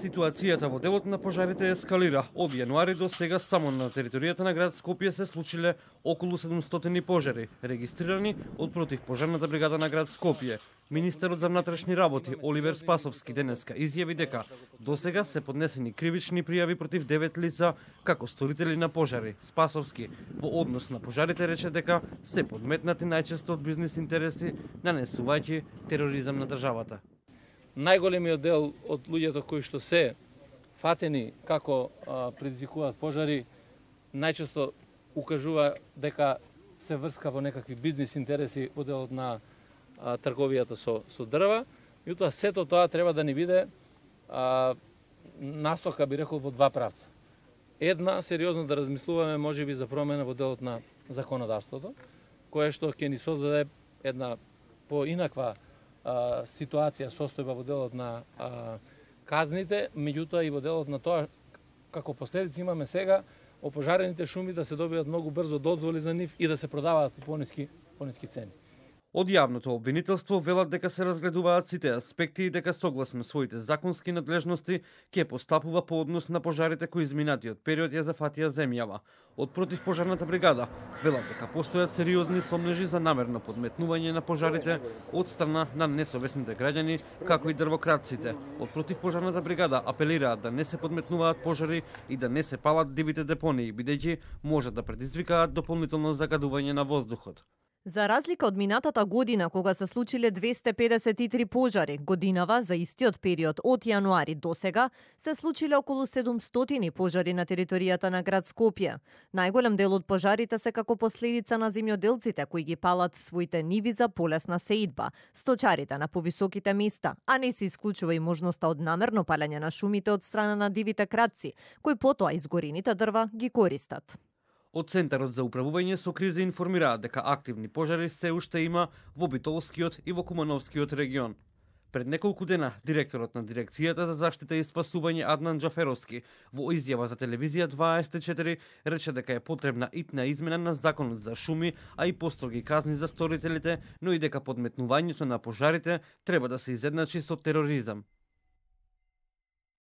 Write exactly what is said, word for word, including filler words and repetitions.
Ситуацијата во делот на пожарите ескалира. Од јануари до сега само на територијата на град Скопје се случиле околу седумстотини пожари, регистрирани од противпожарната бригада на град Скопје. Министерот за внатрешни работи Оливер Спасовски денеска изјави дека досега се поднесени кривични пријави против девет лица како сторители на пожари. Спасовски во однос на пожарите рече дека се подметнати најчесто од бизнис интереси, нанесувајќи тероризам на државата. Најголемиот дел од луѓето кои што се фатени како а, предизвикуваат пожари, најчесто укажува дека се врска во некакви бизнис интереси во делот на а, трговијата со, со дрва. Меѓутоа сето тоа треба да ни биде а, насока, би рекол, во два правца. Една, сериозно да размислуваме можеби за промена во делот на законодавството, кое што ќе ни создаде една поинаква а, ситуација, состојба во делот на а, казните, меѓутоа и во делот на тоа како последици имаме сега опожарените шуми да се добијат многу брзо дозволи за нив и да се продаваат по пониски, пониски цени. Од јавното обвинителство велат дека се разгледуваат сите аспекти и дека согласно своите законски надлежности ќе постапува по однос на пожарите кои изминатиот период ја зафатија земјава. Од противпожарната бригада велат дека постојат сериозни сомнежи за намерно подметнување на пожарите од страна на несовесните граѓани, како и дрвократците. Од противпожарната бригада апелираат да не се подметнуваат пожари и да не се палат дивите депонии, бидејќи можат да предизвикаат дополнително загадување на воздухот. За разлика од минатата година, кога се случиле двесте педесет и три пожари, годинава за истиот период од јануари до сега се случиле околу седумстотини пожари на територијата на град Скопје. Најголем дел од пожарите се како последица на земјоделците кои ги палат своите ниви за полесна сеидба, сточарите на повисоките места, а не се исклучува и можноста од намерно палење на шумите од страна на дивите кратци, кои потоа изгорените дрва ги користат. Од Центарот за управување со кризи информираат дека активни пожари се уште има во Битолскиот и во Кумановскиот регион. Пред неколку дена, директорот на Дирекцијата за заштита и спасување Аднан Џаферовски во изјава за телевизија дваесет и четири рече дека е потребна итна измена на законот за шуми, а и построги казни за сторителите, но и дека подметнувањето на пожарите треба да се изедначи со тероризам.